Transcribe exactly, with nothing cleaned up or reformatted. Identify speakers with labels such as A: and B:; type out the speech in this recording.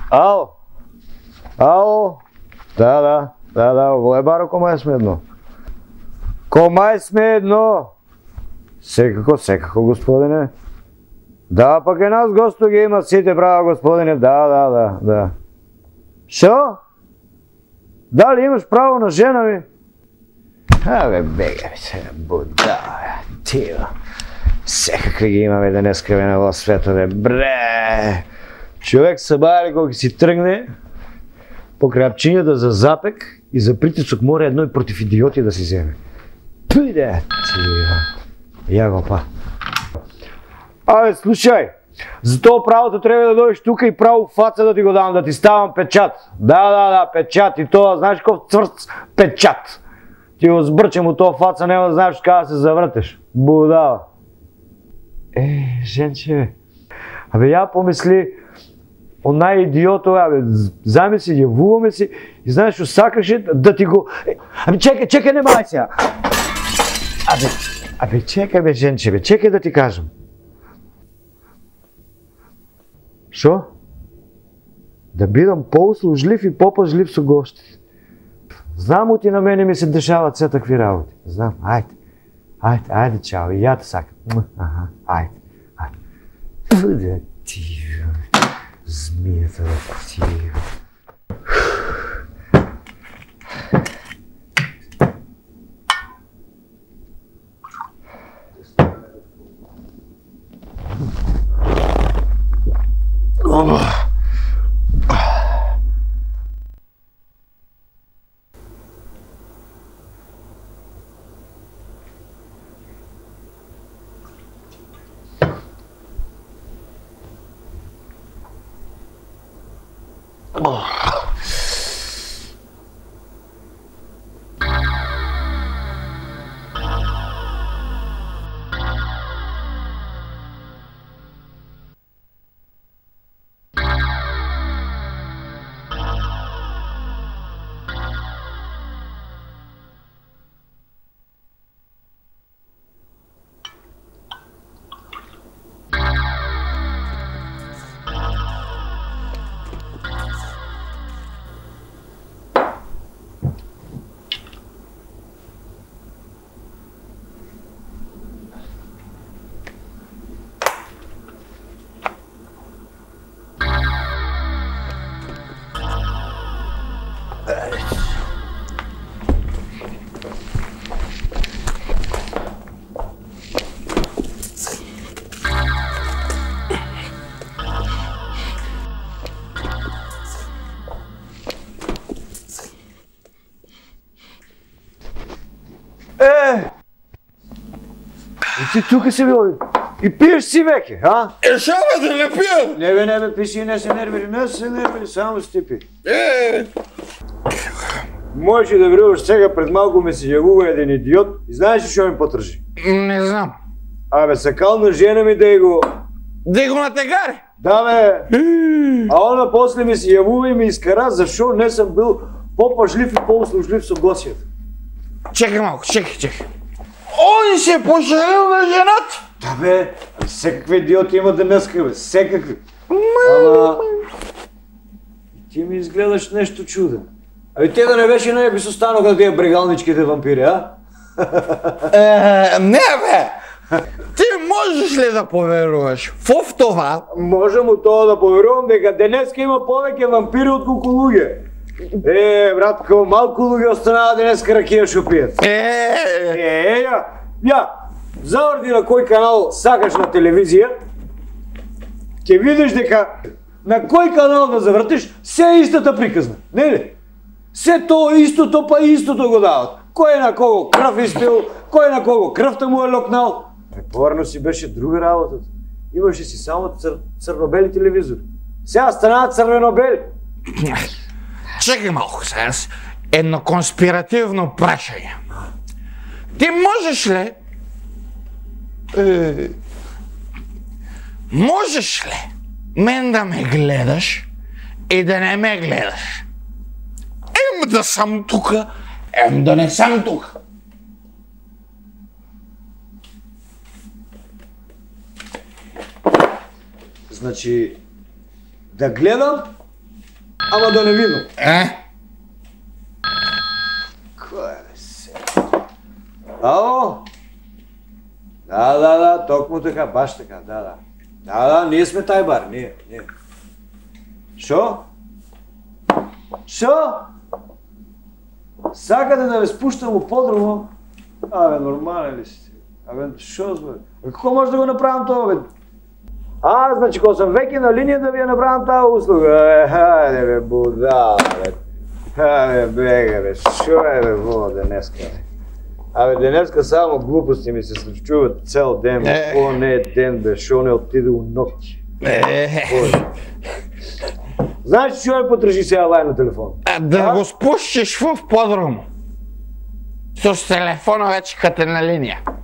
A: Ало? Ало? Да, да, да, да, во Ебаро комај сме едно. Комај сме едно? Секако, секако, господине. Да, пак е нас госто ги има сите, браво, господине, да, да, да, да. Шо? Дали имаш право на жена ми? Абе, бега ми се, будала, тио. Секакви ги имаме денеска бе на во светове, бре. Човек се бајали кога си тргне по крапчињата за запек и за притисок мора едно и против идиоти да си земе. Пиде, тио. Ја го па. Абе, слушај, за тоа правото треба да дојдеш тука и право фаца да ти го дам, да ти ставам печат. Да, да, да, печат и тоа, знаеш кој цврц печат. Ти го збрчам у тоа фаца, нема да знаеш каде да се завртеш. Будала. Е, женче, абе ја помисли, онај идиото, абе, замисли, јавуваме си и знаеш што сакаше да ти го... Абе, чекај, чекај, не мај сега. Абе, абе, чекај бе, женче, бе, чекај да ти кажам. Шо? Да бидам поуслужлив и попажлив со гостите. Знам оти на мене ми се дешават се такви работи. Знам, ајде, ајде, ајде, чао, и ја те сакам. Аха, ајде, ајде. Пуде ти, змијата ти. Ти тука си бил и пиеш си веќе, а?
B: Е, шо бе, да не пијам?
A: Не бе, не бе, пиши и не се нервири, не се нервири, само си ти пи.
B: Е!
A: Можеш да веруваш сега, пред малко ме се јавува еден идиот и знаеш ли шо ми потржи?
B: Не знам.
A: Абе, сакал на жена ми да го...
B: Да го натегари?
A: Да бе! А она после ми се јавува и ми искара зашо не сам бил попажлив и поуслужлив со гостијата.
B: Чекай малко, чекай, чекай. Он се пожалил на жената?
A: Да бе, секакви идиоти има денеска бе, секакви. Ама... Ти ми изгледаш нешто чуден. Аби те да не беше не би се останаха тия брегалничките вампири, а?
B: Е, не бе! Ти можеш ли да поверуваш во това?
A: Можам у тоа да поверувам дека денеска има повеќе вампири од колку луѓе. Е, братко, малку луѓе останаа денеска ракија шо пијат.
B: Е,
A: Е, ја, ја, заорди на кој канал сакаш на телевизија, ќе видиш дека на кој канал да завртиш, се е истата приказна, не ли? Се тоа истото, па истото го дават. Кој на кого крв испил, кој на кого крвта му е локнал. Препорно си беше друга работата. Имаше си само цр... црно-бели телевизори. Сега станаат црвено-бели.
B: чекай малко сега. Едно конспиративно прашање. Ти можеш ли... Е, можеш ли мен да ме гледаш и да не ме гледаш? Ем да сам тука, ем да не сам тука.
A: Значи, да гледам, ама да не видам.
B: Е?
A: Кој е се? Ало? Да, да, да, токму така, баш така, да, да. Да, да, ние сме тај бар, ние, ние. Шо? Шо? Сакате да ве спуштам у подрумо? Абе, нормален ли си? Абе, шо збори? Како може да го направам тоа, бе? А, значи, кога сам веќе на линија да ви ја направам таа услуга, бе, хајде бе, будала, бе. Хајде, бега, бе, шо е, бе, во, денеска, бе? Абе, денеска само глупости ми се случуваат цел ден, бе. О, не е ден, бе, шо не отиде у ноќ. Знаеш што е потржи сега лај на телефон?
B: Да го спушиш во подрум. Со телефона вече кате на линија.